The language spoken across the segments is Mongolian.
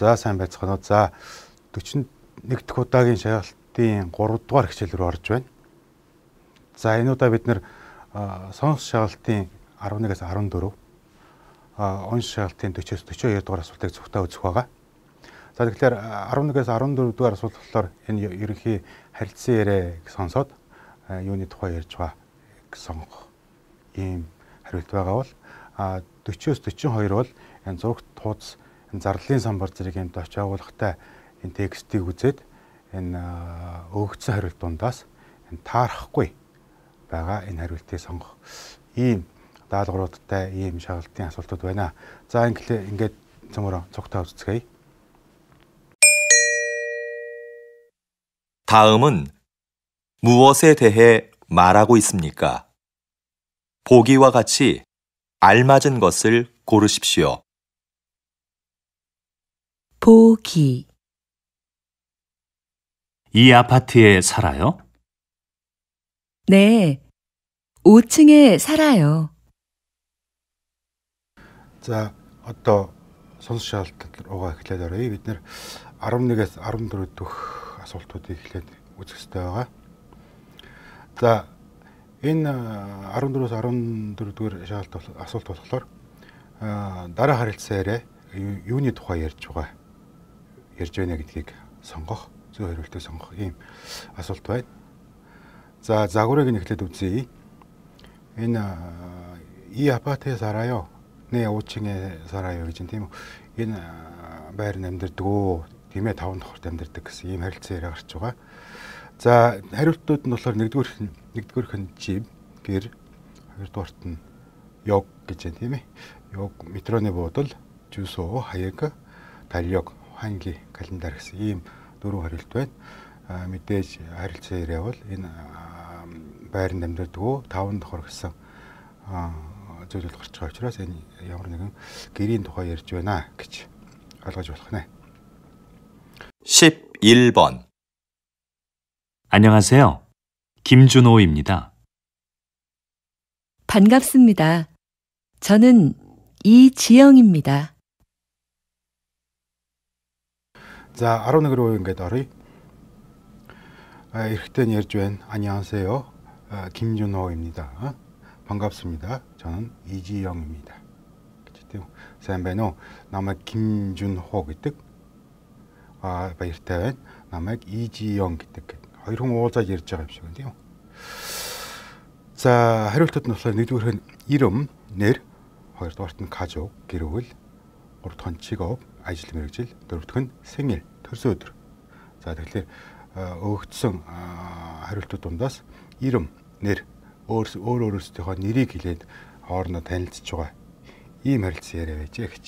За сайн байцгаана уу. За 41 дахь удаагийн шалгалтын 3 дугаар хичээл рүү орж байна. За энэ удаа бид нэр сонс шалгалтын 11-ээс 14, онц шалгалтын 40-с 42 дугаар асуултыг зөвхөн үзэх байгаа. За тэгэхээр 11-ээс 14 дугаар асуулт болохоор энэ ерөнхий харилцан яриаг сонсоод юуны тухай ярьж байгаа сонгох ийм хариулт байгаа бол 40-с 42 бол энэ зурагт тууц зарлалын самбар зэрэг юмд очиж агуулгатай энэ текстийг үзээд энэ өгөгдсөн хариулт дундаас энэ таарахгүй байгаа энэ хариултыг сонгох ийм даалгавруудтай ийм шалгалтын асуултууд байна. За ингээд цөмөрөө цогтой үзцгээе. 다음은 무엇에 대해 말하고 있습니까? 보기와 같이 알맞은 것을 고르십시오. 보기. 이 아파트에 살아요? 네, 5층에 살아요. За одоо сонс шалгалт руугаа эхлээд оръё. Бид нэр 11-ээс 14 дэх асуултуудыг эхлээд үзэх хэрэгтэй байгаа. За энэ 14-өөс 14 дугаар шалгалт асуулт болохоор дараа харилцан яриа юуны тухай ярьж байна гэдгийг сонгох, зөв хариултыг сонгох ийм асуулт байна. За загварыг нь эхлээд үзье. Энэ 이 아파트에 살아요. 네, 5층에 살아요 гэж тийм үү. Энэ байр амьдардаг, тийм ээ, 5 давхарт амьдардаг гэсэн ийм харилцан яриа гарч байгаа. За хариултууд нь болохоор нэгдүгээрх нь жив, гэр, хоёрдугаарт нь ёг гэж байна тийм ээ. Ёг, метроны буудал, 주소, хаяг, 달력, 환기, календар гэсэн ийм 4 хариулт байна. Мэдээж харилцан яриа бол энэ байранд амьдардаг 5 давхар гэсэн зүйлүүд гарч байгаа учраас энэ ямар нэгэн гэрийн тухай ярьж байна гэж ойлгож болох нэ. 11번. 안녕하세요. 김준호입니다. 반갑습니다. 저는 이지영입니다. За 11-로 ингээд оръё. Эрэгтэй нь ярьж байна. 안녕하세요. 김준호입니다. 반갑습니다. 저는 이지영입니다. гэж сайн байна уу? Намайг 김준호 гэдэг. Баяртай байна. Намайг 이지영 гэдэг. Хоёр хүн уулзаад ярьж байгаа юм шиг байна тийм үү? За хариултууд нь болохоор нэгдүгээрх нь 이름, нэр, хоёрдугаарт нь 가족, гэр бүл, гуравдугаар нь 직업, ажил мэргэжил, дөрөвдүгээр нь 생일, төрсөн өдөр. За тэгэхээр өгөгдсөн хариултууд дундаас 이름, нэр, өөрөөсийнхөө нэрийг хэлээд хоорондоо танилцж байгаа ийм харилцан яриа байжээ гэж.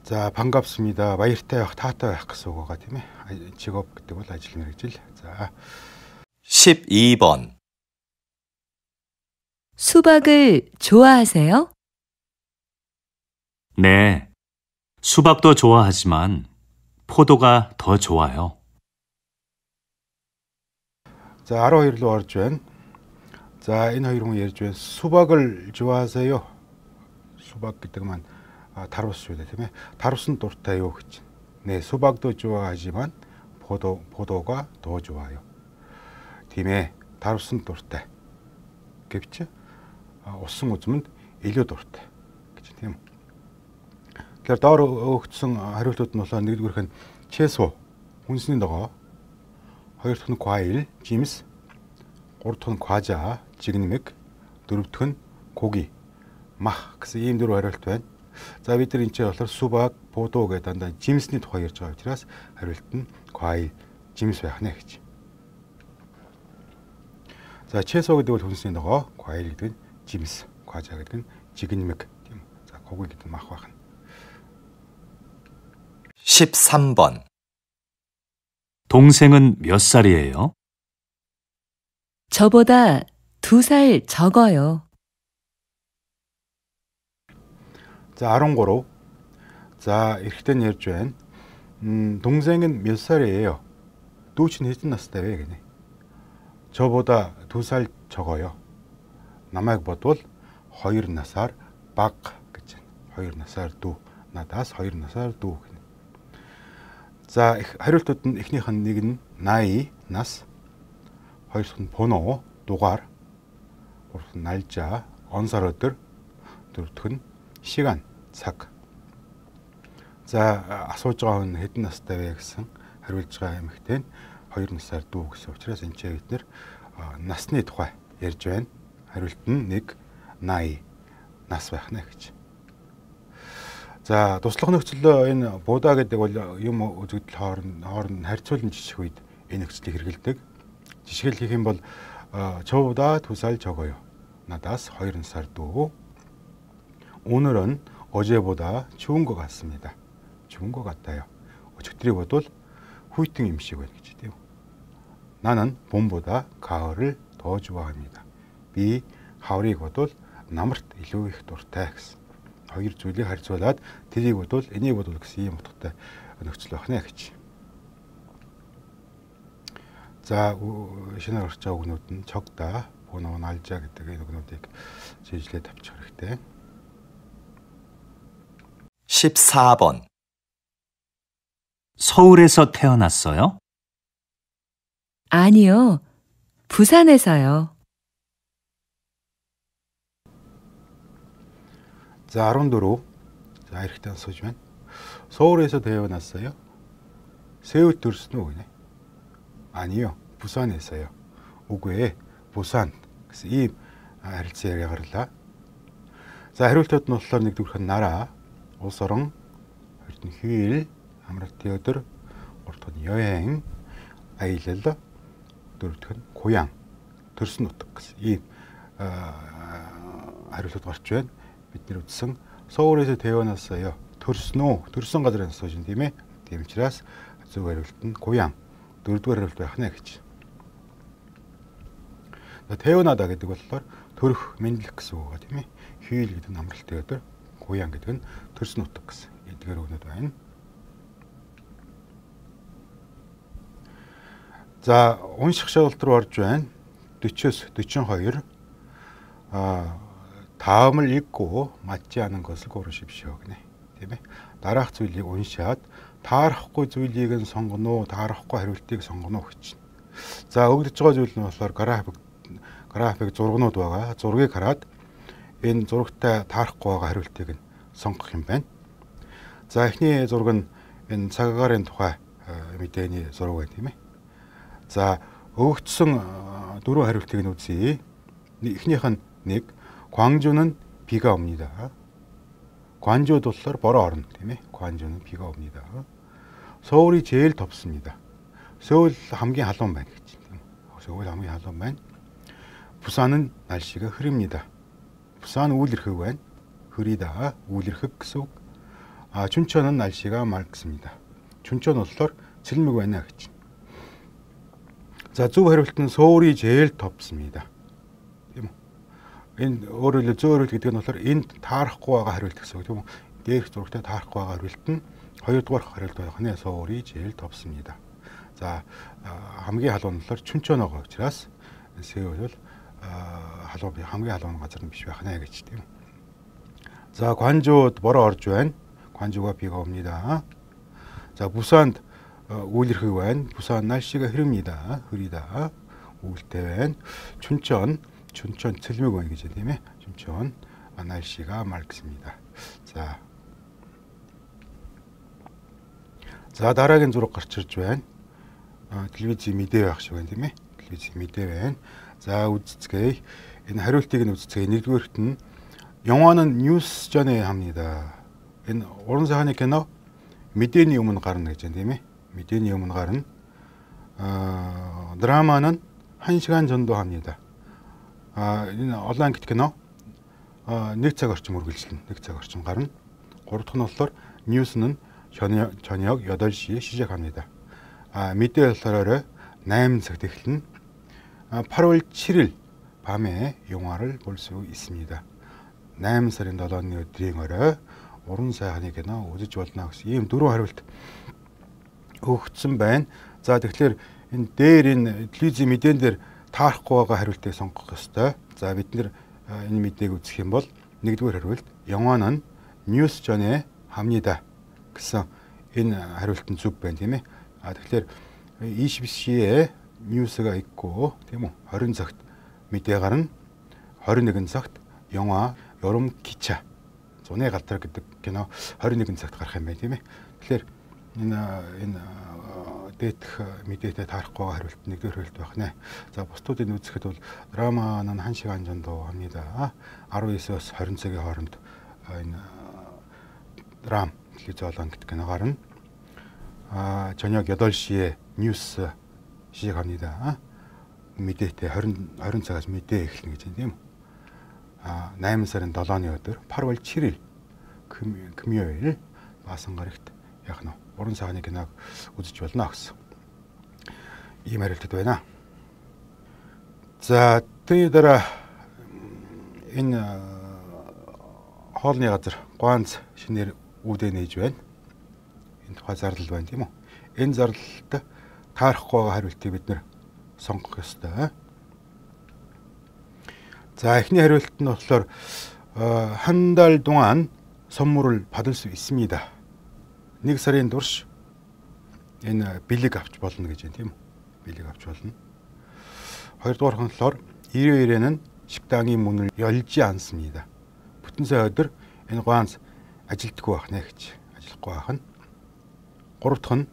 За 반갑습니다. баяртай байх, таатай байх гэсэн үг байгаа тийм ээ. 직업 гэдэг бол ажил мэргэжил. За 12번. 수박을 좋아하세요? 네, 수박도 좋아하지만 포도가 더 좋아요. 자 12로 орж байна. За энэ хоёр хүн ярьж байна. 수박을 좋아하세요? 수박 гэдэг маань тарвас шүү дээ тийм ээ. Тарвас нь дуртай юу гэж. 네, 수박도 좋아하지만 포도가 더 좋아요. тийм ээ. тарвас нь дуртай. гэвч усан үзмэнд илүү дуртай гэж тийм үү. Тэгэхээр доор өгөгдсөн хариултууд нь болохоор нэгдүгээрх нь 채소, хүнсний ногоо, хоёр дахь нь 과일, жимс, гурав дахь нь 과자, жигнэмэг, дөрөв дэх нь 고기, мах гэсэн ийм 4 хариулт байна. За бид нар энэ ч болохоор 수박, 포도 гэдэг дандаа жимсний тухай ярьж байгаа учраас хариулт нь 과일, жимс байх нэ гэж. За 채소 гэдэг бол хүнсний ногоо, 과일 гэдэг нь жимс, 과자 гэдэг нь жигнэмэг тийм үү. За 고기 гэдэг нь мах байх нь. 13번. 동생은 몇 살이에요? 저보다 2살 적어요. 자 13. 자 эрэгтэй нь ярьж байна. 동생은 몇 살이에요? дүү чинь хэдэн настай вэ гэнэ. 저보다 2살 적어요. намайг бодвол 2 насаар бага гэж байна. 2 насаар дүү. Надаас 2 насаар дүү гэнэ. За хариултууд нь эхнийх нь нэг нь 80 нас, хоёр дахь нь пуно дугаар, гурав дахь нь 날짜 он сар өдөр, дөрөв дэх нь 시간 цаг. За асууж байгаа хүн хэдэн настай вэ гэсэн хариулж байгаа эмэгтэй нь 2 насаар дүү гэсэн учраас энэ ч бид нэр насны тухай ярьж байна. Хариулт нь 80 нас байх нэ гэж. За туслах нөхцөлөө энэ буудаа гэдэг бол юм үзэгдэл хооронд харьцуулан жиших үед энэ нөхцөлийг хэрэгэлдэг. Жишгэл хийх юм бол 저보다 2살 적어요. 나다스 2 살 도. 오늘은 어제보다 추운 것 같습니다. 추운 것 같아요. 어떻게 보도 후이팅 임시고 있겠지요. 나는 봄보다 가을을 더 좋아합니다. 비 가을이 곧올 намарт илүү их дуртай гэсэн. Хоёр зүйлийг харьцуулаад тэрийг бодвол энийг бодвол гэсэн юм утгатай нөхцөл байна гэж. За шинээр орж байгаа үгнүүд нь 적다, 보노, 날짜 гэдэг энэ үгнүүдийг жийжлээд авчих хэрэгтэй. 14번. 서울에서 태어났어요? 아니요. 부산에서요. 자, 14. 자, 이렇게 써주면 서울에서 태어났어요? 세울 들수는 오네. 아니요. 부산에서요. 오구에 부산. 그래서 이 харилцаагаа гаргалаа. За, хариултууд нь болохоор нэгдүгээрх нь 나라, улс орон, хоёрт нь 휴일, амралтын өдөр, гурав дахь нь 여행, аялал, дөрөв дэх нь 고향, төрсөн нутаг гэсэн ийм хариултууд гарч байна. Бид нэр үзсэн 서울에서 태어났어요. төрсөн газраас сууж юм тийм ээ. Тийм учраас зөв хариулт нь 고향, дөрөвдүгээр хариулт байх нэ гэж. 태어나다 гэдэг болохоор төрөх, мэдлэх гэсэн үг тийм ээ. 휴일 гэдэг нь амралтын өдөр, 고향 гэдэг нь төрсөн нутаг гэсэн эдгээр үгнүүд байна. За, унших шалгалт руу орж байна. 40-с 42. 다음을 읽고 맞지 않은 것을 고르십시오. тийм ээ. Дараах зүйлийг уншаад таарахгүй зүйлийг нь сонгоно, таарахгүй хариултыг сонгоно гэж. За, өгдөж байгаа зүйл нь болохоор график зургнууд байгаа. Зургийг хараад энэ зурагтай таарахгүй байгаа хариултыг нь сонгох юм байна. За, эхний зураг нь энэ цагагаарын тухай мэдээний зураг байна тийм ээ. За, өгөгдсөн дөрвөн хариултыг нь үзье. Эхнийх нь 1. 광주는 비가 옵니다. 관주 болохоор бороо орно тийм ээ. 관주는 비가 옵니다. 서울이 제일 덥습니다. 서울 хамгийн халуун байна гэж. 서울 хамгийн халуун байна. 부산은 날씨가 흐립니다. 부산 우울해х байна. 흐리다, 우울해х гэсэн үг. 춘천은 날씨가 맑습니다. 춘천 болохоор цэлмэг байна гэж. 자, зөв хариулт нь 서울이 제일 덥습니다. Энэ өөрөөр зөв хариулт гэдэг нь болохоор энд таарахгүй байгаа хариулт гэсэн үг тийм үү? Дээрх зурагтай таарахгүй байгаа хариулт нь хоёрдугаар хариулт байх нь 서울이 제일 덥습니다. За, хамгийн халуун нь болохоор 춘천 байгаа учраас Сеул бол хамгийн халуун газар нь биш байх нэ гэж тийм. За, 관주д бороо орж байна. 관주가 비가 옵니다. 자, 부산 우울해х байна. 부산 날씨가 흐립니다. 흐리다, 우울대 байна. 춘천 цэлмэг байна гэж тийм ээ. 춘천 날씨가 맑습니다. 자, дараагийн зураг гарч ирж байна. телевизийн мэдээ байх шиг байна тийм ээ. телевизийн мэдээ байна. За, үзцгээе. Энэ хариултыг нь үзцгээе. нэгдүгээрт нь 영화는 뉴스 전에 합니다. Энэ уран сайхны кино мэдээний өмнө гарна гэж байна тийм ээ. мэдээний өмнө гарна. 드라마는 1시간 전도 합니다. Энэ онлайн кино 1 цаг орчим үргэлжилнэ. 1 цаг орчим гарна. гурав дахь нь болохоор 뉴스는 저녁 8시에 시작합니다. мэдээ болохоор 8 цагт эхэлнэ. 8월 7일 밤에 영화를 볼 수 있습니다. 8 сарын 7-ны өдрийн орой уран сайхны кино үзэж болно гэсэн ийм дөрвөн хариулт өгөгдсөн байна. За, тэгэхээр энэ дээр энэ телевизийн мэдэн дээр таарахгүй байгаа хариултыг сонгох ёстой. За, бид нэр энэ мэдээг үзэх юм бол нэгдүгээр хариулт 영화는 뉴스 전에 합니다. гэсэн энэ хариулт нь зөв байна тийм ээ. Тэгэхээр 20시에 뉴스가 있고 тийм үү? 20 цагт мэдээ гарна. 21 цагт 영화 여름 기차 зуны галтраг гэдэг кино 21 цагт гарах юм байна тийм ээ. Тэгэхээр энэ дээдх мэдээтэй таарахгүй хариулт нэгдүгээр хариулт байх нэ. За бусдуудыг үзэхэд бол 드라마는 1시간 정도 합니다. 19-с 20 цагийн хооронд энэ 드라마 телевизион гэдэг кино гарна. 저녁 8시에 뉴스 시작합니다. мэдээтэй 20 цагаас мэдээ эхэлнэ гэж байна тийм үү? 8 сарын 7-ны өдөр 8월 7일 금요일 마성가릭т яг нь уран цагааны киног үзэж болно гэсэн. Ийм хариултууд байна. За тэрний дараа энэ хоолны газар Ганц шинээр үүдээ нээж байна. Энэ тухай зардал байна тийм үү? Энэ зардалд таарахгүй байгаа хариултыг бид нэр сонгох ёстой. 자, эхний хариулт нь болохоор 한 달 동안 선물을 받을 수 있습니다. 1 сарын турш энэ бэлэг авч болно гэж байна тийм үү? Бэлэг авч болно. хоёрдугаар нь болохоор 일요일에는 식당이 문을 열지 않습니다. бүтэн сая өдөр энэ Ганц ажилтгүй байх нэ гэж. ажиллахгүй байх нь. гурав дахь нь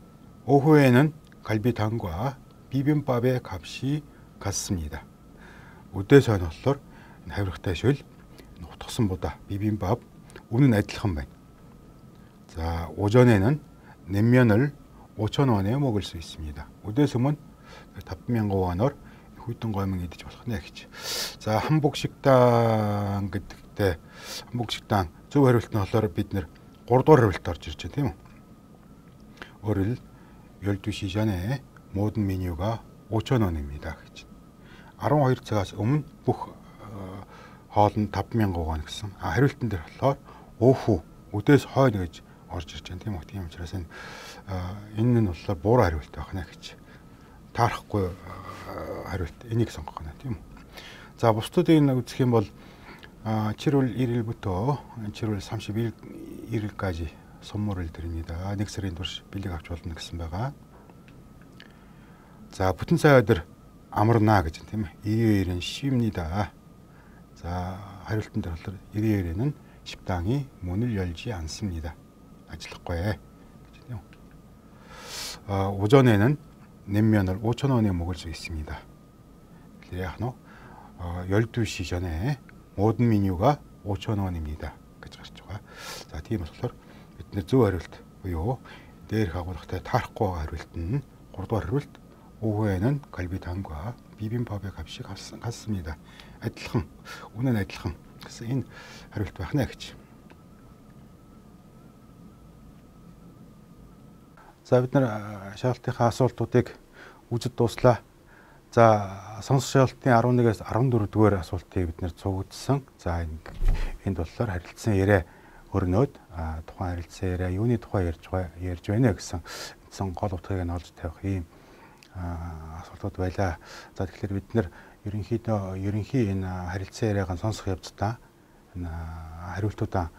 오후에는 갈비탕과 비빔밥의 값이 같습니다. өдөөс хойно болохоор хавиргатай шөл утгасан보다 비빔밥 үнэн адилхан байна. 자, 오전에는 냉면을 5,000원에 먹을 수 있습니다. өдөөсөмөн 5,000원or хүйтэн гомон идэж болох нэ гэж. За, 한복식당 гэдэгтээ 한복식당 зөв хариулт нь болохоор бид нэр 3 дугаар хариулт орж ирж байна тийм үү? Өөрөөр 12시 전에 모든 메뉴가 5,000원입니다 гэж. 12 цагаас өмнө бүх хоол нь 5,000원 гэсэн. хариултан дээр болохоор 오후 өдөөс хойно гэж орж ирж байна тийм үү? Тийм учраас энэ нь болохоор буруу хариулт байх нэ гэж. Таарахгүй хариулт энийг сонгох нь тийм үү? За бусдыг үзэх юм бол 7월 1일부터 7월 31일까지 선물을 드립니다. 1 сарын турш бэлэг авч болно гэсэн байгаа. 자, бүтэн сая өдөр амарна гэж байна тийм ээ. 일요일은 쉽니다. 자, хариултан дээр болохоор 일요일에는 식당이 문을 열지 않습니다. ажиллахгүй гэж байна. 오전에는 냉면을 5,000원에 먹을 수 있습니다. яг нь 12시 전에 모든 메뉴가 5,000원입니다. гэж гарч байгаа. За, тийм болохоор бид нэр зөв хариулт буюу дээрх агуулгатай таарахгүй хариулт нь 3 дугаар хариулт 오후에는 갈비탕과 비빔밥의 값이 같습니다. адилхан, үнэн адилхан гэсэн энэ хариулт байх нэ гэж. За, бид нар шаалтынхаа асуултуудыг үзэж дууслаа. За, сонсох шаалтын 11-ээс 14 дугаар асуултыг бид нэр цугдсан. За, энд болохоор харилцсан яриа өрнөд тухайн харилцсан яриа юуны тухай ярьж байна гэсэн гол утгыг нь олж тавих ийм асуултууд байлаа. За, тэгэхээр бид нэр ерөнхий энэ харилцан яриаг нь сонсох явцдаа энэ хариултуудаа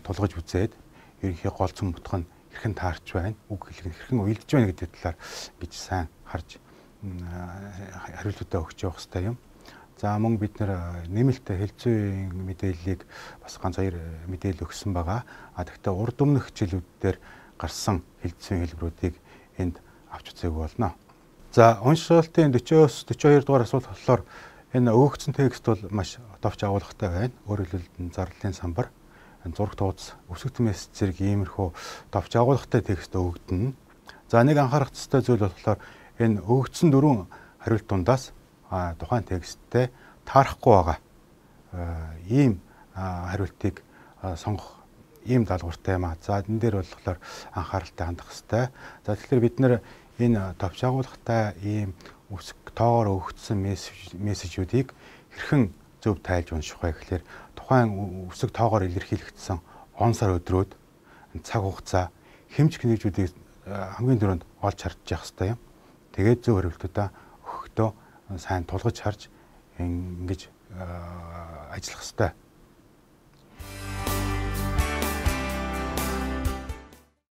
тулгаж үзээд ерөнхий голцон мутх нь хэрхэн таарч байна, үг хэлэх нь хэрхэн уйлдж байна гэдэг талаар гэж сайн харж хариултуудаа өгч явах хэрэгтэй юм. За, мөн бид нэр нэмэлт хэлцүүийн мэдээллийг бас ганц хоёр мэдээлэл өгсөн байгаа. Тэгэхдээ урд өмнөх хичээлүүдээр гарсан хэлцүүийн хэлбэрүүдийг энд авч үзээгүй болно. За, уншилтын 40-оос 42 дугаар асуулт болохоор энэ өгөгдсөн текст бол маш товч агуулгатай байна. Өөрөөр хэлбэл зарлалын самбар, зураг тууц, өсгөгдсөн мессеж зэрэг иймэрхүү товч агуулгатай текст өгөгдөнө. За, нэг анхаарах ёстой зүйл болохоор энэ өгөгдсөн 4 хариулт дундаас тухайн тексттэй таарахгүй байгаа ийм хариултыг сонгох ийм даалгавартай юм аа. За, энэ дээр болохоор анхааралтай хандах хэрэгтэй. За, тэгэхээр бид нэр энэ товч агуулгатай ийм үсэг тоогоор өгөгдсөн мессежүүдийг хэрхэн зөв тайлж унших вэ гэхээр тухайн үсэг тоогоор илэрхийлэгдсэн он сар өдрөөд цаг хугацаа хэмж хэнэжүүдийг хамгийн түрүүнд олж харж явах хэрэгтэй юм. Тэгээд зөв хариултуудаа өгөхдөө сайн тулгаж харж ингэж ажиллах хэрэгтэй.